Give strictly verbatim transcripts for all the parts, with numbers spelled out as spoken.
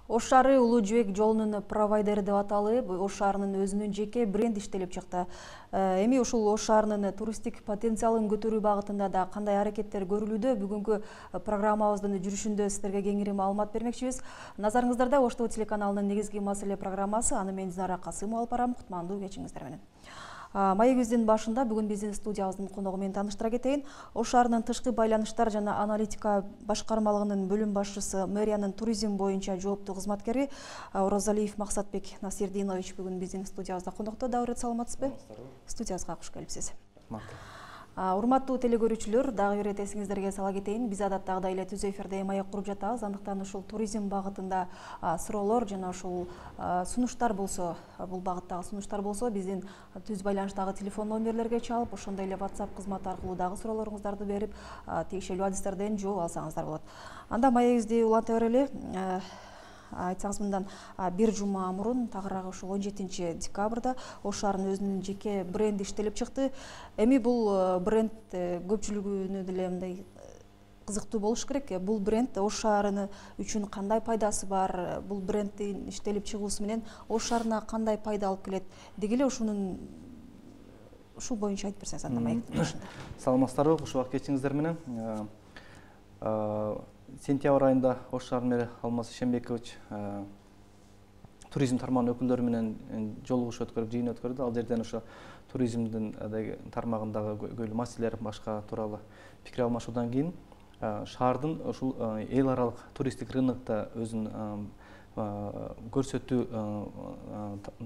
Ош шаары Улуу Жибек жолунун провайдери деп аталып, Ош шаарынын өзүнүн жеке бренд иштелип чыкты. Эми ушул Ош шаарынын туристтик потенциалын көтөрүү багытында да кандай аракеттер көрүлүүдө? Бүгүнкү программабыздын жүрүшүндө сиздерге кеңири маалымат бермекчибиз. Назарыңыздарда Ош ТВ телеканалынын негизги маселе программасы. Аны мен Динара Касымова алып барам. Кутмандуу кечиңиздер менен. Маегибиздин башында бүгүн биздин студиябыздын коногу менен тааныштыра кетейин. Ош шаарынын тышкы байланыштар жана аналитика башкармалыгынын бөлүм башчысы, мэриянын туризм боюнча жооптуу кызматкери Оразалиев Максатбек Насирдинович бүгүн биздин студиябызда конокто. Дагы бир саламатсызбы? Студиябызга куш келипсиз. Урматтуу телекөрүүчүлөр, дагы бир ирет эсиңиздерге сала кетейин. Биз адаттагыдай эле түз эфирде маек куруп жатабыз. Андыктан ушул туризм багытында суроолор жана ушул сунуштар болсо, бул багыттагы сунуштар болсо, биздин түз байланыштагы телефон номерлерге чалып, ошондой эле WhatsApp кызматы аркылуу дагы суроолоруңуздарды берип, тиешелүү адистерден жооп алсаңыздар болот. Анда маегибизди уланта берели. Айтсаңыз, мындан бир жума мурун, тагыраак ушул он жетинчи декабрда Ош шаарынын өзүнүн жеке бренди иштелип чыкты. Эми бул бренд көпчүлүгүнө деле мындай кызыктуу болуш керек. Бул бренд Ош шаарыны үчүн кандай пайдасы бар? Бул бренддин иштелип чыгуусу менен Ош шаарына кандай пайда алып келет? Деги эле ушунун ушул боюнча айтып берсеңиз анда маектин башында. Саламатсыздарбы, куш убак кечиңиздер менен. Сентябрь айында Ош шаарынын мэри Алмаз Ишенбекович туризм тармагынын өкүлдөрү менен жолугуш өткөрүп, жыйын өткөрдү. Ал жерден ошо туризмдин тармагындагы көйлүү маселелер башка тууралуу пикир алмашуудан кийин шаардын ушул эл аралык туристтик рынокто өзүн көрсөтүү,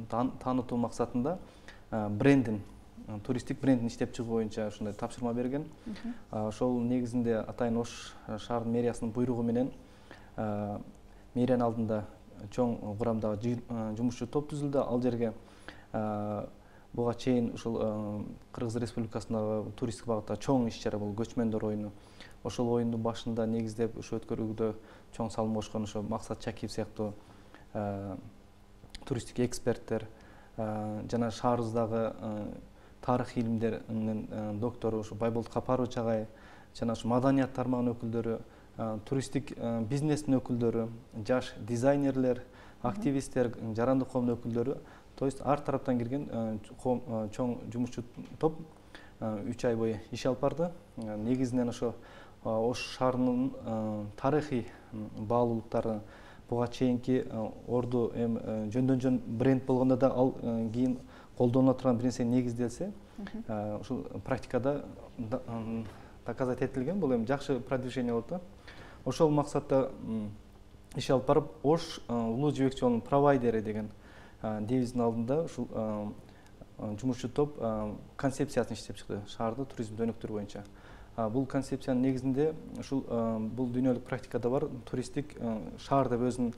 таанытуу максатында брендин туристтик брендин иштеп чыгуу боюнча ушундай тапшырма берген. Ошол негизинде атайын Ош шаарынын мэриясынын буйругу менен мэриянын алдында чоң курамдагы жумушчу топ түзүлдү. Ал жерге буга чейин ушул Кыргыз Республикасындагы туристтик багытта чоң иш-чара, бул көчмөндөр оюну. Ошол оюндун башында негиздеп ушу өткөрүүгө чоң салым кошкон ошо Максат Чакиев сыяктуу туристтик эксперттер жана шаарыбыздагы тарых илимдеринин доктору ушу Байболот Капарович агай жана ушу маданият тармагынын өкүлдөрү, туристтик бизнестин өкүлдөрү, жаш дизайнерлер, активисттер, жарандык коомдун өкүлдөрү, то есть ар тараптан кирген чоң жумушчу топ үч ай бою иш алып барды. Негизинен ошо Ош шаарынын тарыхый баалуулуктары, буга чейинки орду эми жөндөн жөн бренд болгондо да ал кийин колдонула турган бир нерсе негизделсе, ушул практикада доказать этилген, бул эми жакшы продвижение болот да. Ошол максатта иш алып барып, Ош Улуу Жибек жолунун провайдери деген девиздин алдында ушул жумушчу топ концепциясын иштеп чыкты, шаарды туризмди өнүктүрүү боюнча. Бул концепциянын негизинде ушул бул дүйнөлүк практикада бар туристтик шаар деп өзүн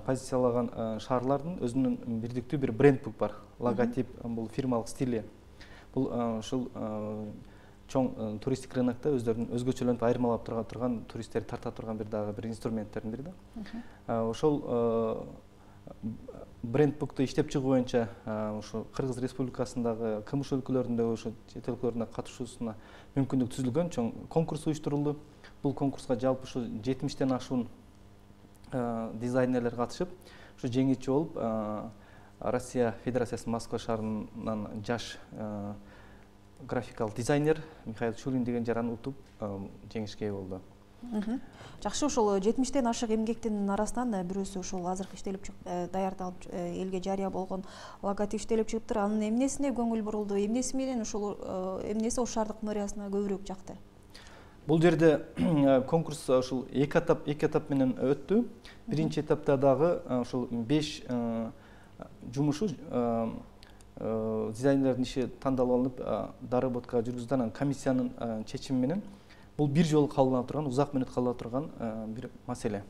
позициялаган шаарлардын өзүнүн бирдиктүү бир брендбук бар. Логотип, бул фирмалык стили. Бул ушул чоң туристтик рынокто өздөрүнүн өзгөчөлөнүп айырмалап турган туристтерди тарта турган бир дагы бир инструменттердин бири да. Ошол брендбукту иштеп чыгуу боюнча ушу Кыргыз Республикасындагы кмш өлкөлөрүндө, ошо чет өлкөлөрүнө катышуусуна мүмкүндүк түзүлгөн, чоң конкурс уюштурулду. Бул конкурска жалпы ушу жетимиштен ашуун дизайнерлер катышып, ушу жеңүүчү болуп, Россия Федерациясынын Москва шаарынан жаш графикалык дизайнер Михаил Чулин деген жаран утуп жеңишке ээ болду. Жакшы, ошол жетимиштен ашык эмгектин арасынан бирөөсү ошол азыркы иштелип даярдалып элге жарыя болгон логотип иштелип чыгыптыр. Анын эмнесине көңүл бурулду? Эмнеси менен ошол эмнеси Ош шаардык мэриясына көбүрөөк жакты? Бул жерде конкурс ушул эки этап эки этап менен өттү. Биринчи этапта дагы ушул беш жумушу дизайнерлердин иши тандалып алынып, доработка жүргүзүлдү. Анан комиссиянын чечими менен бул бир жолу кабылдана турган, узак мөөнөт кала турган бир маселе.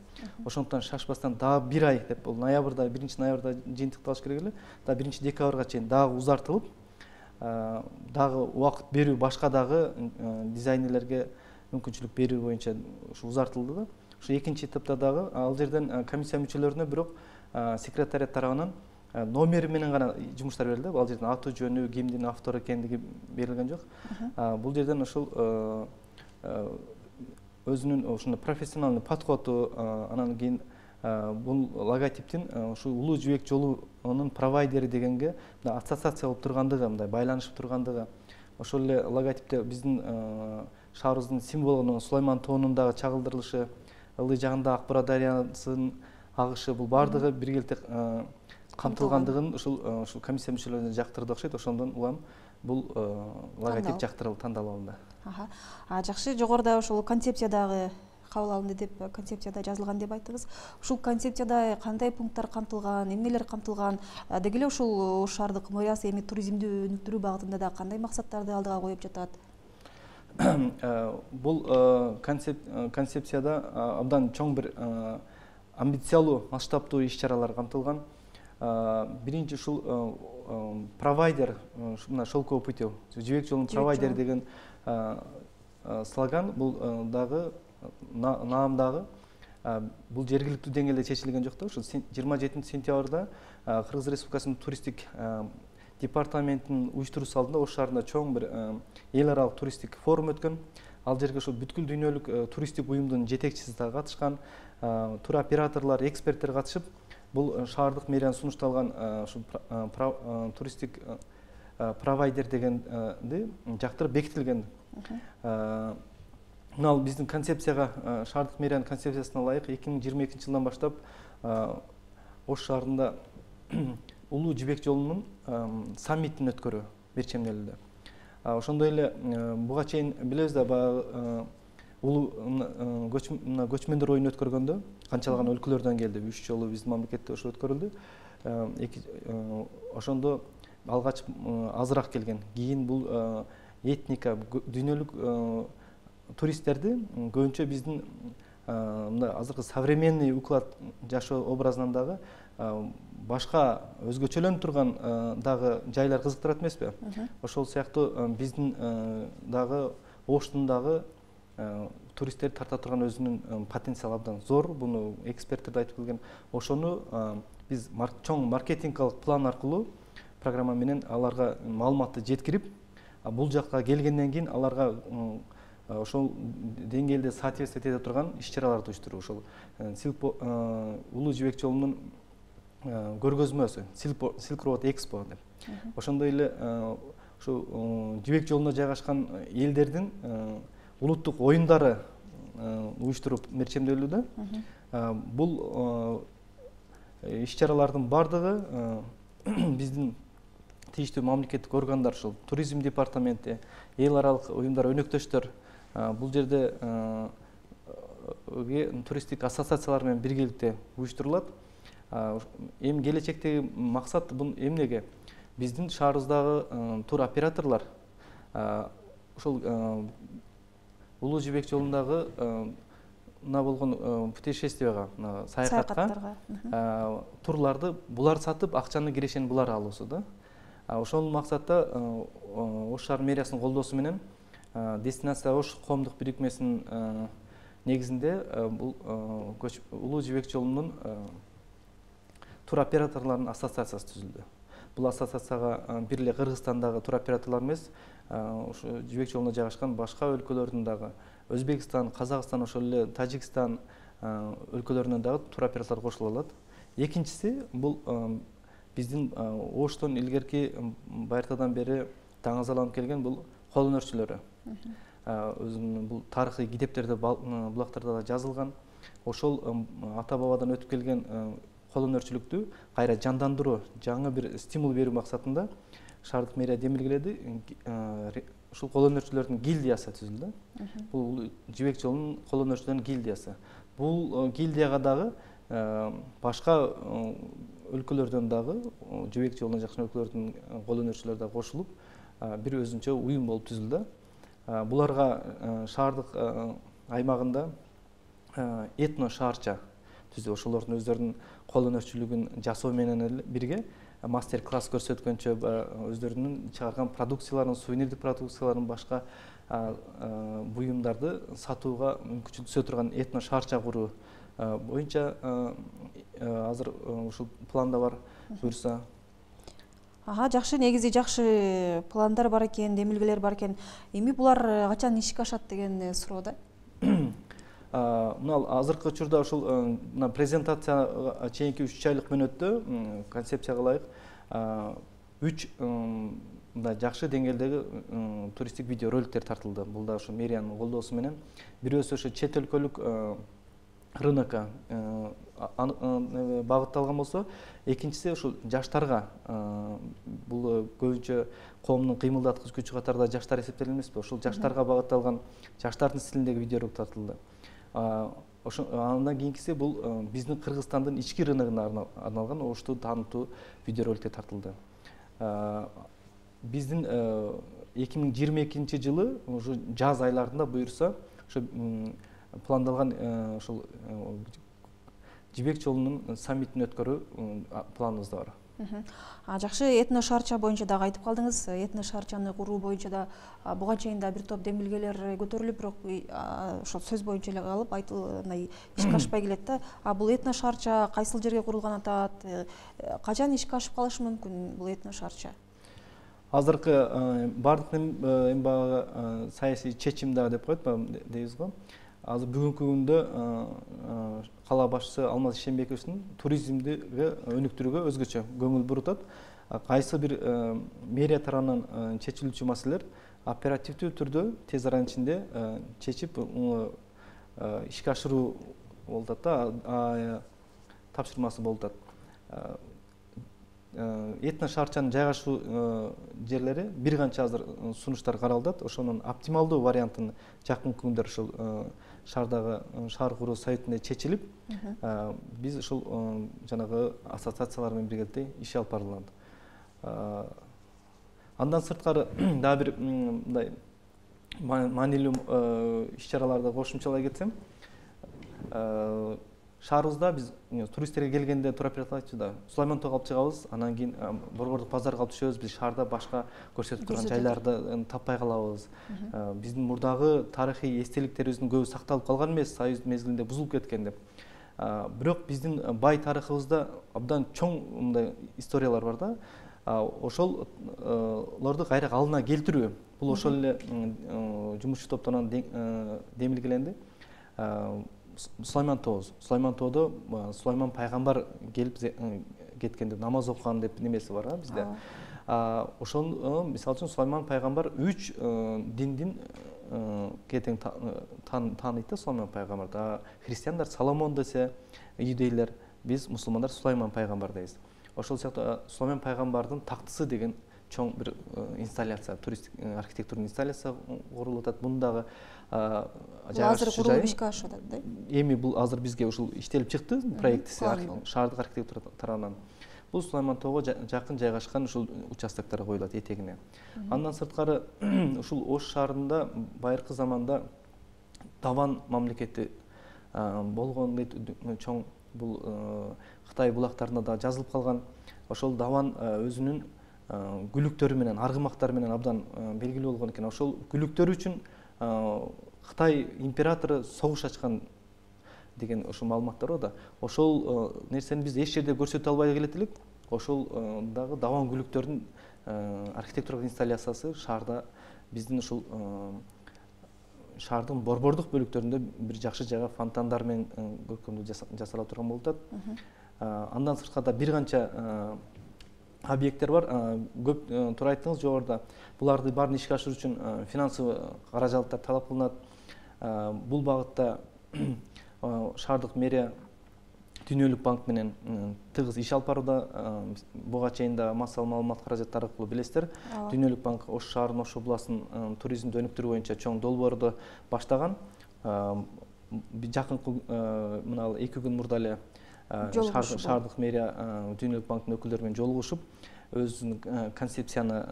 Ошондуктан шашпастан дагы бир ай деп, бул ноябрда, биринчи ноябрда жыйынтыкталыш керек эле. Да биринчи декабрга чейин дагы узартылып, дагы убакыт берүү башка дагы дизайнерлерге мүмкүнчүлүк берүү боюнча ушу узартылды да. Ушу экинчи этапта дагы ал жерден комиссия мүчөлөрүнө бирок секретариат тарабынан номери менен гана жумуштар берилди. Ал жерден аты жөнү, кимдин автору экендиги берилген жок. Бул жерден ошол өзүнүн ушундай профессиональный подходу, анан кийин бул логотиптин ушул улуу жибек жолунун провайдери дегенге ассоциация болуп тургандыгы, мындай байланышып тургандыгы, ошол эле логотипте биздин шаарыбыздын символу Сулайман тоонундагы чагылдырылышы, ылдый жагында Ак Бура дарыянын агышы, бул баардыгы биргеликте камтылгандыгын ушул ушул комиссия мүчөлөрүнө жактырды окшойт. Ошондон улам бул логотип жактырылып тандалып алынды. А жакшы, жогоруда ошол концепциядагы кабыл алынды деп, концепцияда жазылган деп айттыңыз. Ушул концепцияда кандай пункттар камтылган, эмнелер камтылган? Деги эле ушул Ош шаардык мэриясы эми туризмди өнүктүрүү багытында да кандай максаттарды алдыга коюп жатат? Бул концепцияда абдан чоң бир амбициялуу, масштабтуу иш-чаралар камтылган. Биринчи ушул провайдер, мына шелковый путёв, жибек жолунун провайдер деген слоган бул дагы наамдагы бул жергиликтүү деңгээлде чечилген жок да. Ушул жыйырма жетинчи сентябрда Кыргыз Республикасынын туристтик департаментинин уюштуруусу алдында Ош шаарында чоң бир эл аралык туристтик форум өткөн. Ал жерге ушул бүткүл дүйнөлүк туристтик уюмдун жетекчиси да катышкан, туроператорлор, эксперттер катышып, бул шаардык мэриянын сунушталган ушул туристтик провайдер дегенди жактырып бекитилген. Мына биздин концепцияга, шаардык мэриянын концепциясына ылайык эки миң жыйырма экинчи жылдан баштап Ош шаарында улуу жибек жолунун саммитин өткөрүү берчемделди. Ошондой эле буга чейин билебиз да, баягы улуу көчмөндөр оюн өткөргөндө канчалаган өлкөлөрдөн келди. Үч жолу биздин мамлекетте ошо өткөрүлдү. Ошондо алгач азыраак келген. Кийин бул этника, дүйнөлүк туристтерди көбүнчө биздин мындай азыркы современный уклад жашоо образынан дагы башка өзгөчөлөнүп турган дагы жайлар кызыктырат эмеспи? Ошол сыяктуу биздин дагы Оштун дагы туристтерди тарта турган өзүнүн потенциалы абдан зор. Буну эксперттер да айтып келген. Ошону биз чоң маркетингдик план аркылуу, программа менен аларга маалыматты жеткирип, бул жакка келгенден кийин аларга ошол деңгээлде соответствовать эте турган иш-чараларды уюштуруу. Ошол улуу жибек жолунун көргөзмөсү, Silk Road Expo деп. Ошондой эле ошо жибек жолунда жайгашкан элдердин улуттук оюндары уюштуруп мерчемделүүдө. Бул иш-чаралардын бардыгы биздин тийиштүү мамлекеттик органдар, ушул туризм департаменти, эл аралык уюмдар, өнөктөштөр бул жерде туристтик ассоциациялар менен биргеликте уюштурулат. Эми келечектеги максат бул эмнеге? Биздин шаарыбыздагы туроператорлор ошол улуу жибек жолундагы мына болгон путешествияга, саякатка турларды булар сатып, акчаны кирешени булар алуусу да. Ошол максатта Ош шаар мэриясынын колдоосу менен Дестинация Ош коомдук бирикмесинин негизинде бул улуу жибек жолунун туроператорлорунун ассоциациясы түзүлдү. Бул ассоциацияга бир эле Кыргызстандагы туроператорлор эмес, ушу жибек жолунда жайгашкан башка өлкөлөрдүн дагы, Өзбекстан, Казакстан, ошол эле Тажикстан өлкөлөрүнөн дагы туроператорлор кошулуп алат. Экинчиси бул биздин Оштон илгерки байыртадан бери таңазаланып келген бул кол өнөрчүлөрү. Өзүнүн бул тарыхый китептерде, булактарда да жазылган. Ошол ата бабадан өтүп келген кол өнөрчүлүктү кайра жандандыруу, жаңы бир стимул берүү максатында шаардык мэрия демилгеледи. Ушул кол өнөрчүлөрдүн гильдиясы түзүлдү. Бул жибек жолунун кол өнөрчүлөрүнүн гильдиясы. Бул гильдияга дагы башка өлкөлөрдөн дагы, жибек жолуна жакын өлкөлөрдүн кол өнөрчүлөрү да кошулуп, бир өзүнчө уюм болуп түзүлдү. Буларга шаардык аймагында этно шаарча түзүп, ошолордун өздөрүнүн кол өнөрчүлүгүн жасоо менен бирге мастер-класс көрсөткөнчө өздөрүнүн чыгарган продукцияларын, сувенирдик продукцияларын, башка буюмдарды сатууга мүмкүнчүлүк түзө турган этно шаарча куруу боюнча азыр ушул планда бар, буюрса. Ага, жакшы, негизи жакшы пландар бар экен, демилгелер бар экен. Эми булар качан ишке ашат деген суроо да. мына азыркы учурда ушул мына презентация чейинки үч айлык мөөнөттө концепцияга ылайык үч мындай жакшы деңгээлдеги туристтик видео роликтер тартылды. Бул да ушу мэриянын колдоосу менен. Бирөөсү ошо чет өлкөлүк рынокко багытталган болсо, экинчиси ушул жаштарга. Бул көбүнчө коомдун кыймылдаткыч күчү катарында жаштар эсептелет эмеспи? Ошол жаштарга багытталган, жаштардын стилиндеги видеоролик тартылды. Ошо андан кийинкиси бул биздин Кыргызстандын ички рыногуна арналган ошту таанытуу видеороликтер тартылды. Биздин эки миң жыйырма экинчи жылы ушу жаз айларында буюрса ошо пландалган ушул Жибек жолунун саммитин өткөрүү планыбызда бар. Жакшы, этно шаарча боюнча дагы айтып калдыңыз. Этно шаарчаны куруу боюнча да буга чейин да бир топ демилгелер көтөрүлүп, бирок ошол сөз боюнча эле калып, айтылмай ишке ашпай келет да. А бул этно шаарча кайсыл жерге курулган атат? Качан ишке ашып калышы мүмкүн бул этно шаарча? Азыркы бардык эми баягы саясий чечим да деп коет дейбиз го. Азыр бүгүнкү күндө кала башчысы Алмаз Ишенбековдун туризмдиги өнүктүрүүгө өзгөчө көңүл бурутат. Кайсы бир мэрия тарабынан чечилүүчү маселелер оперативдүү түрдө тез аранын ичинде чечип ишке ашыруу болуп атат да, тапшырмасы болуп атат. Этно шаарчанын жайгашуу жерлери бир канча азыр сунуштар каралдат. Ошонун оптималдуу вариантын жакынкы күндөр ушул шаардагы шаар куруу советинде чечилип, биз ушул жанагы ассоциациялар менен биргеликте иш алып барылат. Андан сырткары дагы бир мындай маанилүү иш-чараларды кошумчалай кетсем, шаарыбызда биз туристтерге келгенде туроператор айтчу да, Сулайман тоого алып чыгабыз, анан кийин Борбордук базарга алып түшөбүз, биз шаарда башка көрсөтүп турган жайларды таппай калабыз. Биздин мурдагы тарыхый эстеликтерибиздин көбү сакталып калган эмес, Союз мезгилинде бузулуп кеткен деп. Бирок биздин бай тарыхыбызда абдан чоң мындай историялар бар да. Ошолорду кайра калыбына келтирүү, бул ошол эле жумушчу топтон демилгеленди. Сулайман тообуз. Сулайман тоодо Сулайман пайгамбар келип кеткенде намаз окуган деп немеси бар бизде. Ошол мисалы үчүн Сулайман пайгамбар үч диндин кетең тааныйт да Сулайман пайгамбарды. Христиандар Соломон десе, иудейлер, биз мусулмандар Сулайман пайгамбар дейбиз. Ошол сыяктуу Сулайман пайгамбардын тактысы деген чоң бир инсталляция, туристтик архитектурный инсталляция курулуп атат. Бундагы азыр курулуп ишке ашып атат да. Эми бул азыр бизге ушул иштелип чыкты, проектиси шаардык архитектура тарабынан. Бул Сулайман тоого жакын жайгашкан ушул участоктор коюлат этегине. Андан сырткары ушул Ош шаарында байыркы заманда Даван мамлекети болгон дейт, чоң бул Кытай булактарында да жазылып калган. Ошол Даван өзүнүн гүлүктөрү менен, аргымактары менен абдан белгилүү болгон экен. Ошол гүлүктөр үчүн Кытай императору согуш ачкан деген ошол маалыматтар бар да. Ошол нерсени биз эч жерде көрсөтө албай келет элек. Ошол дагы Даван гүлүктөрүнүн архитектуралык инсталляциясы шаарда биздин ушул шаардын борбордук бөлүктөрүндө бир жакшы жайга фонтандар менен көркөмдүү жасала турган болуп атат. Андан сырткары бир канча объекттер бар. Көп туура айттыңыз жогоруда. Буларды баарын ишке ашыруу үчүн финансылык каражаттар талап кылынат. Бул багытта шаардык мэрия Дүйнөлүк банк менен тыгыз иш алып барууда. Буга чейин да массалык маалымат каражаттары аркылуу билесиздер. Дүйнөлүк банк Ош шаарынын, Ош областынын туризмди өнүктүрүү боюнча чоң долбоорду баштаган. Жакынкы мына эки күн мурда эле шаардык мэрия Дүйнөлүк банктын өкүлдөрү менен жолугушуп, өзүнүн концепцияны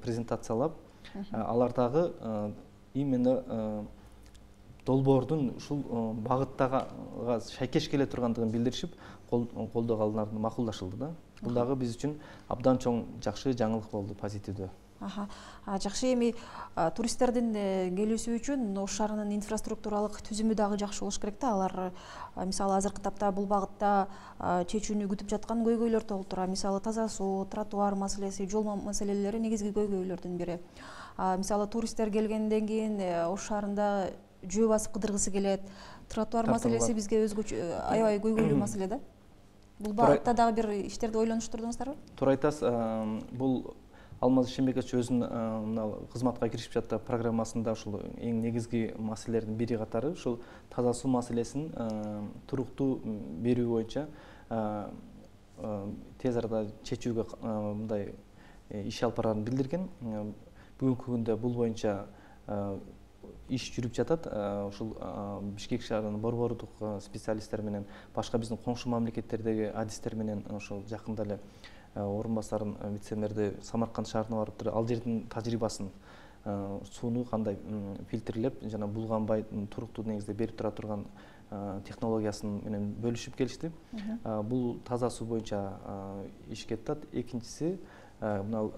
презентациялап, алардагы именно долбоордун ушул багыттага шайкеш келе тургандыгын билдиришип, колдоого алынаарын макулдашылды да. Бул дагы биз үчүн абдан чоң жакшы жаңылык болду, позитивдүү. Жакшы, эми туристтердин келүүсү үчүн Ош шаарынын инфраструктуралык түзүмү дагы жакшы болуш керек да. Алар мисалы азыркы тапта бул багытта чечүүнү күтүп жаткан көйгөйлөр толуп турат. Мисалы таза суу, тротуар маселеси, жол маселелери негизги көйгөйлөрдүн бири. Мисалы туристтер келгенден кийин Ош шаарында жөө басып кыдыргысы келет. Тротуар маселеси бизге өзгөчө аябай көйгөйлүү маселе да. Бул багытта дагы бир иштерди ойлонуштурдуңуздарбы? Туура айтасыз. Бул Алмаз Ишенбекович өзүнүн мына кызматка киришип жаткан программасында ушул эң негизги маселелердин бири катары ушул таза суу маселесин туруктуу берүү боюнча тез арада чечүүгө мындай иш алып барарын билдирген. Бүгүнкү күндө бул боюнча иш жүрүп жатат. Ушул Бишкек шаарынын борбордук специалисттери менен башка биздин коңшу мамлекеттердеги адистер менен ошол жакында эле орун басарын вице-мэрди Самарканд шаарына барып туруп ал жердин тажрыйбасын, сууну кандай фильтрлеп жана булганбай туруктуу негизде берип тура турган технологиясын менен бөлүшүп келишти. Бул таза суу боюнча иш кетип атат. Экинчиси мына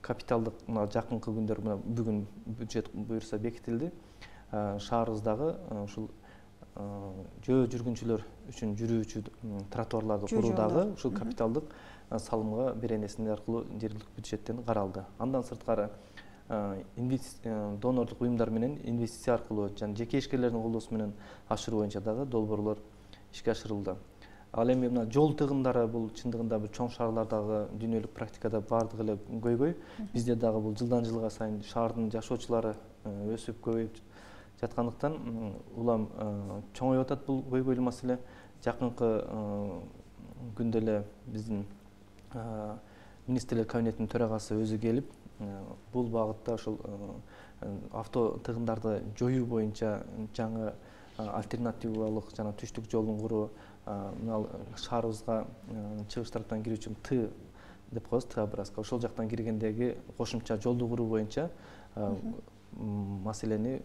капиталдык мына жакынкы күндөр мына бүгүн бюджет буюрса бекитилди. Шаарыбыздагы ушул жөө жүргүнчүлөр үчүн жүрүүчү тротуарларды куруудагы ушул капиталдык салымга беренесин аркылуу жергиликтүү бюджеттен каралды. Андан сырткары донорлук уюмдар менен инвестиция аркылуу жана жеке ишкерлердин колдоосу менен ашыруу боюнча дагы долбоорлор ишке ашырылды. Ал эми мына жол тыгындары бул чындыгында бир чоң шаарлардагы дүйнөлүк практикада бардыгы эле көйгөй. Бизде дагы бул жылдан жылга сайын шаардын жашоочулары өсүп көбөйүп жаткандыктан улам чоңоюп атат бул көйгөйлүү маселе. Жакынкы күндө эле биздин министрлер кабинетинин төрагасы өзү келип бул багытта ошол авто тыгындарды жоюу боюнча жаңы альтернативалык жана түштүк жолун куруу, мына шаарыбызга чыгыш тараптан кирүүчү Т деп коебуз, Т образка ошол жактан киргендеги кошумча жолду куруу боюнча маселени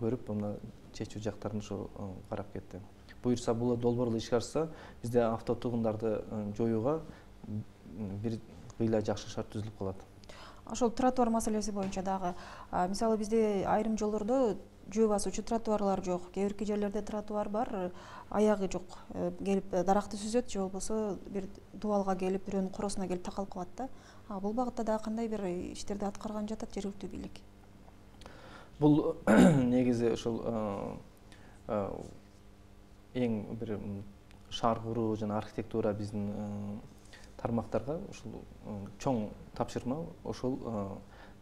көрүп мына чечүү жактарын ошо карап кетти. Буюрса бул долбоорлор ишке ашса, бизде авто тыгындарды жоюуга бир кыйла жакшы шарт түзүлүп калат. Ошол тротуар маселеси боюнча дагы мисалы бизде айрым жолдордо жөө басуучу тротуарлар жок. Кээ бирки жерлерде тротуар бар, аягы жок. Келип даракты сүзөт же болбосо бир дубалга келип, бирөөнүн коросуна келип такалып калат да. Бул багытта дагы кандай бир иштерди аткарган жатат жергиликтүү бийлик? Бул негизи ошол эң бир шаар куруу жана архитектура биздин тармактарга ушул чоң тапшырма. Ошол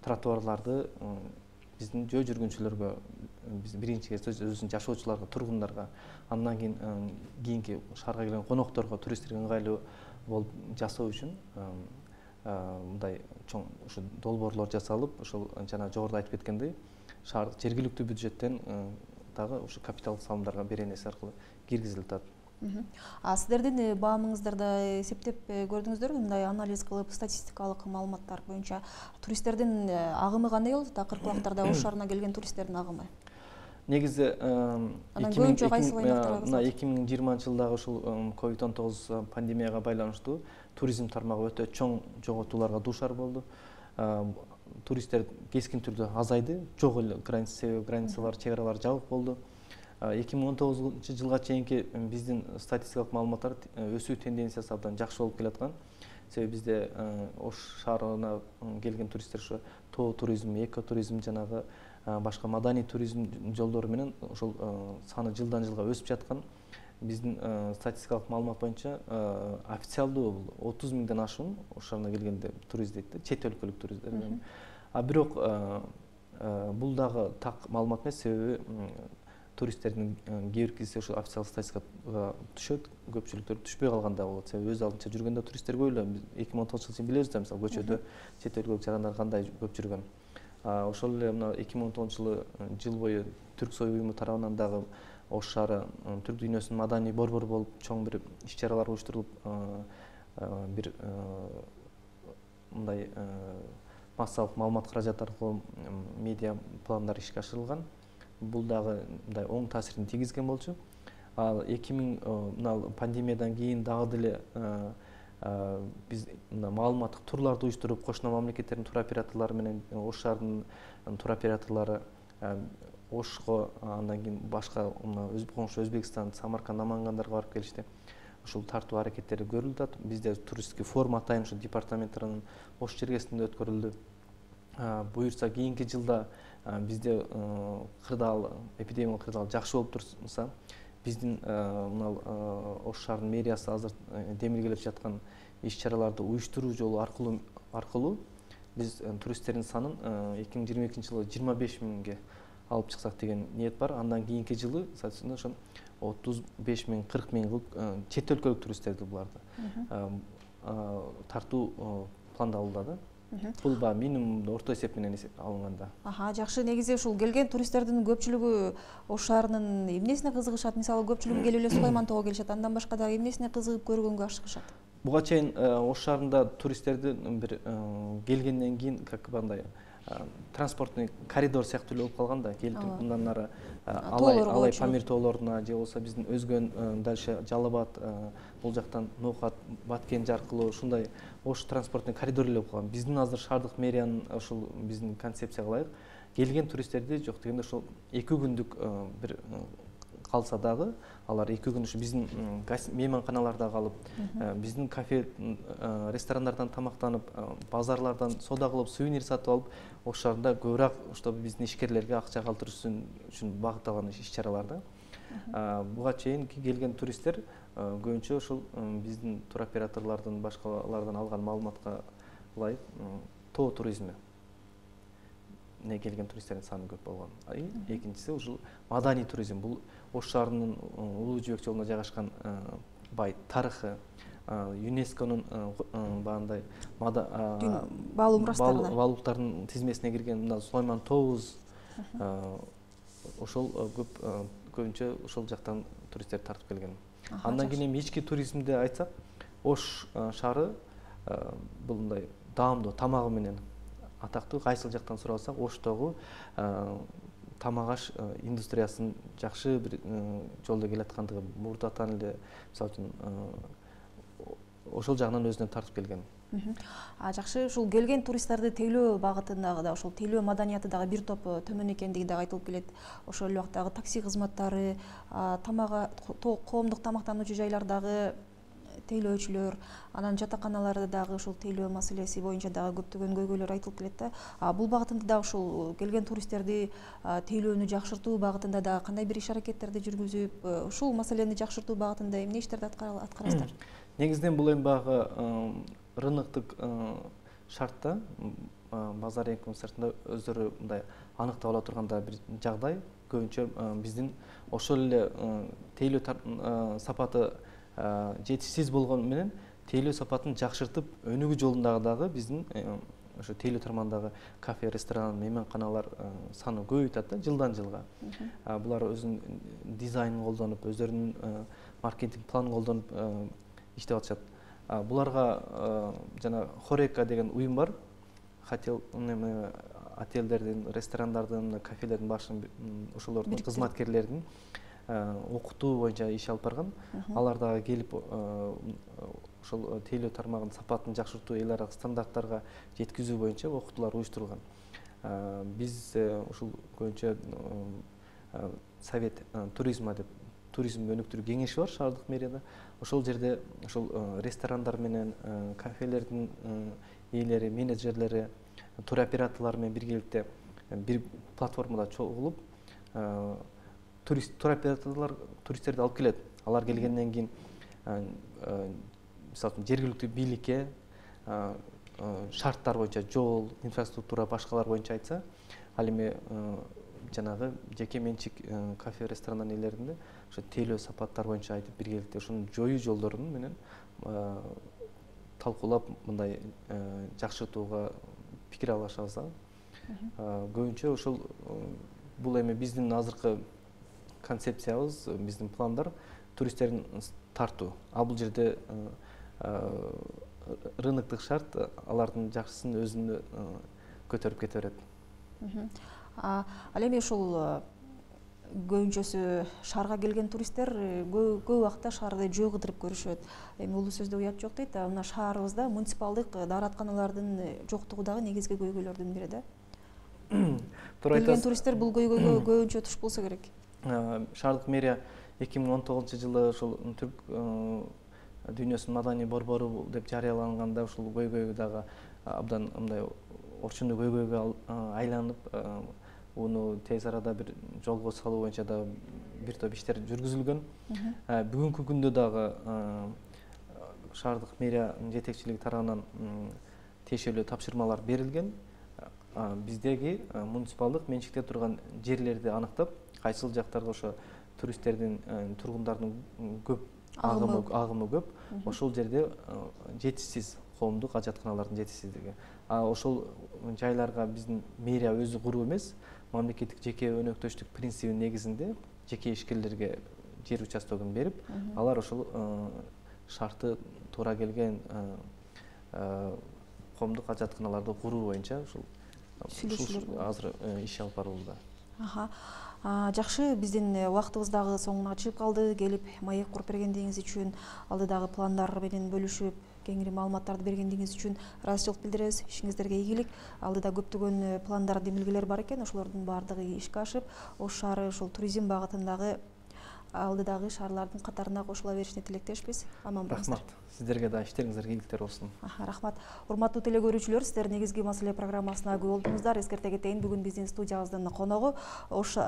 тротуарларды биздин жөө жүргүнчүлөргө, биз биринчи кезде өзүнүн жашоочуларга, тургундарга, андан кийин кийинки шаарга келген конокторго, туристтерге ыңгайлуу болуп жасоо үчүн мындай чоң ушу долбоорлор жасалып, ошол жана жогоруда айтып кеткендей, шаар жергиликтүү бюджеттен дагы ушу капиталдык салымдарга беренеси аркылуу киргизилип атат. А сиздердин баамыңыздарда эсептеп көрдүңүздөрбү, мындай анализ кылып, статистикалык маалыматтар боюнча туристтердин агымы кандай болот? Кыркыбактарда Ош шаарына келген туристтердин агымы? Негизи мына эки миң жыйырманчы жылдагы ушул ковид он тогуз пандемияга байланыштуу туризм тармагы өтө чоң жоготууларга дуушар болду. Туристтер кескин түрдө азайды, жок эле граница, границалар, чек аралар жабык болду. эки миң он тогузунчу жылга чейинки биздин статистикалык маалыматтар өсүү тенденциясы абдан жакшы болуп келаткан. Себеби бизде Ош шаарына келген туристтер ошо тоо туризм, экотуризм жанагы башка маданий туризм жолдору менен ошол саны жылдан жылга өсүп жаткан. Биздин статистикалык маалымат боюнча официалдуу отуз миңден ашуун Ош шаарына келгенде турист дейт да, чет өлкөлүк туристтер. А бирок бул дагы так маалымат эмес, себеби туристтердин кээ биркиси ошо официалдык статистикага түшөт, көпчүлүктөр түшпөй калган да болот. Себеби өз алдынча жүргөндө туристтер көп эле. эки миң он тогузунчу жылы билебиз да, мисалы көчөдө чет өлкөлүк жарандар кандай көп жүргөн. Ошол эле мына эки миң он тогузунчу жылы жыл бою Түрксой уюму тарабынан дагы Ош шаары түрк дүйнөсүнүн маданий борбору болуп чоң бир иш-чаралар уюштурулуп, бир мындай массалык маалымат каражаты аркылуу медиа пландар ишке ашырылган. Бул дагы мындай оң таасирин тийгизген болчу. Ал эки миң мына пандемиядан кийин дагы деле биз мына маалыматтык турларды уюштуруп, кошуна мамлекеттердин туроператорлору менен Ош шаарынын туроператорлору Ошко, андан кийин башка коңшу Өзбекстан, Самарканд, Намангандарга барып келишти. Ушул тартуу аракеттери көрүлүп атат. Бизде туристтик форум атайын ушу департаменттин Ош чергесинде өткөрүлдү. буюрса кийинки жылда бизде кырдаал эпидемиялык кырдаал жакшы болуп турса, биздин мына Ош шаарынын мэриясы азыр демилгелеп жаткан иш-чараларды уюштуруу жолу аркылуу аркылуу биз туристтердин санын эки миң жыйырма экинчи жылы жыйырма беш миңге алып чыксак деген ниет бар. Андан кийинки жылы соответственно ошо отуз беш миң кырк миң кылып чет өлкөлүк туристтерди буларды тартуу пландалууда да. Бул баягы минимум орто эсеп менен алынганда. Аха, жакшы. Негизи ушул келген туристтердин көпчүлүгү Ош шаарынын эмнесине кызыгышат? Мисалы, көпчүлүгү келип эле Сулайман-тоого келишет, андан башка дагы эмнесине кызыгып көргөнгө ашыгышат? Буга чейин Ош шаарында туристтерди бир келгенден кийин как бандай транспортный коридор сыяктуу эле болуп калган да. Келип мындан нары Алай Алай Памир тоолоруна же болбосо биздин өзгөн дальше Жалал-Абад, бул жактан Ноокат, Баткенже аркылуу ушундай Ош транспортный коридор эле болуп калган. Биздин азыр шаардык мэриянын ушул биздин концепцияга ылайык келген туристтерди жок дегенде ошол эки күндүк бир калса дагы, алар эки күн ушу биздин мейманканаларда калып, биздин кафе, ресторандардан тамактанып, базарлардан соода кылып, сувенир сатып алып, Ош шаарында көбүрөөк ошто биздин ишкерлерге акча калтырыш үчүн багытталган иш-чаралар да. Буга чейин келген туристтер көбүнчө ошол биздин туроператорлордун, башкалардан алган маалыматка ылайык тоо туризми не келген туристтердин саны көп болгон. Экинчиси ушул маданий туризм. Бул Ош шаарынын Улуу Жибек жолуна жайгашкан бай тарыхы, ЮНЕСКОнун баандай баалуулуктардын тизмесине кирген мына Сулайман тообуз, ошол көп көбүнчө ошол жактан туристтер тартып келген. Андан кийин эми ички туризмди айтсак, Ош шаары бул мындай даамдуу тамагы менен атактуу. Кайсыл жактан сурасак, Оштогу тамак аш индустриясынын жакшы бир жолдо келаткандыгы мурдатан эле, мисалы үчүн ошол жагынан өзүнө тартып келген. А жакшы, ушул келген туристтерди тейлөө багытындагы да ошол тейлөө маданияты дагы бир топ төмөн экендиги дагы айтылып келет. Ошол эле убактагы такси кызматтары, тамага коомдук тамактануучу жайлардагы тейлөөчүлөр, анан жатаканаларда дагы ушул тейлөө маселеси боюнча дагы көптөгөн көйгөйлөр айтылып келет да. Бул багытында дагы ушул келген туристтерди тейлөөнү жакшыртуу багытында дагы кандай бир иш аракеттерди жүргүзүп, ушул маселени жакшыртуу багытында эмне иштерди аткарасыздар? Негизинен бул эми баягы рыноктук шартта, базар рынокунун сыртында өздөрү мындай аныктап ала турганда бир жагдай, көбүнчө биздин ошол эле тейлөө сапаты жетишсиз болгону менен тейлөө сапатын жакшыртып өнүгүү жолундагы дагы биздин ошо тейлөө тармагындагы кафе, ресторан, мейманканалар саны көбөйүп да жылдан жылга. Булар өзүнүн дизайнын колдонуп, өздөрүнүн маркетинг планын колдонуп иштеп атышат. Буларга жана Хорека деген уюм бар. Хотел отелдердин, ресторандардын, кафелердин башын ошолордун кызматкерлердин окутуу боюнча иш алып барган. Алар дагы келип ошол тейлөө тармагынын сапатын жакшыртуу, эл аралык стандарттарга жеткизүү боюнча окутуулар уюштурулган. Биз ушул көбүнчө Совет туризма деп туризмди өнүктүрүү кеңеши бар шаардык мэрияда. Ошол жерде ошол ресторандар менен, кафелердин ээлери, менеджерлери, туроператорлор менен биргеликте бир платформада чогулуп, туроператорлор туристтерди алып келет. Алар келгенден кийин мисалы үчүн жергиликтүү бийликке шарттар боюнча жол, инфраструктура, башкалар боюнча айтса, ал эми жанагы жеке менчик кафе, ресторандар ээлеринде ошо тейлөө сапаттар боюнча айтып биргеликте ошону жоюу жолдорун менен талкуулап мындай жакшыртууга пикир алышабыз. Көбүнчө ошол бул эми биздин азыркы концепциябыз, биздин пландар туристтердин тартуу. А бул жерде рыноктук шарт алардын жакшысын өзүнө көтөрүп кете берет. Ал эми ушул көбүнчөсү шаарга келген туристтер көп убакта шаарды жөө кыдырып көрүшөт. Эми улуу сөздө уят жок дейт. Мына шаарыбызда муниципалдык дааратканалардын жоктугу дагы негизги көйгөйлөрдүн бири да. Келген туристтер бул көйгөйгө көбүнчө туш болсо керек. Шаардык мэрия эки миң он тогузунчу жылы ошол түрк дүйнөсүнүн маданий борбору деп жарыяланганда ушул көйгөйгө дагы абдан мындай орчундуу көйгөйгө айланып уну тез арада бир жолго салуу боюнча да бир топ иштер жүргүзүлгөн. Бүгүнкү күндө дагы шаардык мэрия жетекчилиги тарабынан тиешелүү тапшырмалар берилген. Биздеги муниципалдык менчикте турган жерлерди аныктап, кайсыл жактарга ошо туристтердин, тургундардын көп агымы агымы көп, ошол жерде жетишсиз коомдук ажатканалардын жетишсиздиги. А ошол жайларга биздин мэрия өзү куруу эмес, мамлекеттик жеке өнөктөштүк принцибинин негизинде жеке ишкерлерге жер участогун берип, алар ошол шарты туура келген коомдук ажатканаларды куруу боюнча ушул азыр иш алып барылууда. Жакшы, биздин убактыбыз дагы соңуна чыгып калды. Келип маек куруп бергендигиңиз үчүн, алдыдагы пландар менен бөлүшүп, кеңири маалыматтарды бергендигиңиз үчүн ыраазычылык билдиребиз. Ишиңиздерге ийгилик. Алдыда көптөгөн пландар, демилгелер бар экен. Ошолордун баардыгы ишке ашып, Ош шаары ушул туризм багытындагы алдыдагы шаарлардын катарына кошула беришине тилектешпиз. Аман болуңуздар. Рахмат. Сиздерге да иштериңиздерге ийгиликтер болсун. Рахмат. Урматтуу теле-көрүүчүлөр, сиздер негизги маселе программасына күбө болдуңуздар. Эскерте кетейин, бүгүн биздин студиябыздын коногу Ош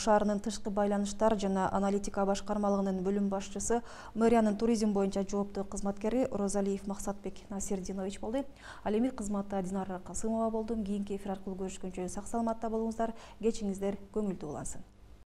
шаарынын тышкы байланыштар жана аналитика башкармалыгынын бөлүм башчысы, мэриянын туризм боюнча жооптуу кызматкери Розалиев Максатбек Насирдинович болду. Ал эми кызматта Динара Касымова болдум. Кийинки эфир аркылуу көрүшкөнчө сак саламатта болуңуздар. Кечиңиздер көңүлдүү улансын.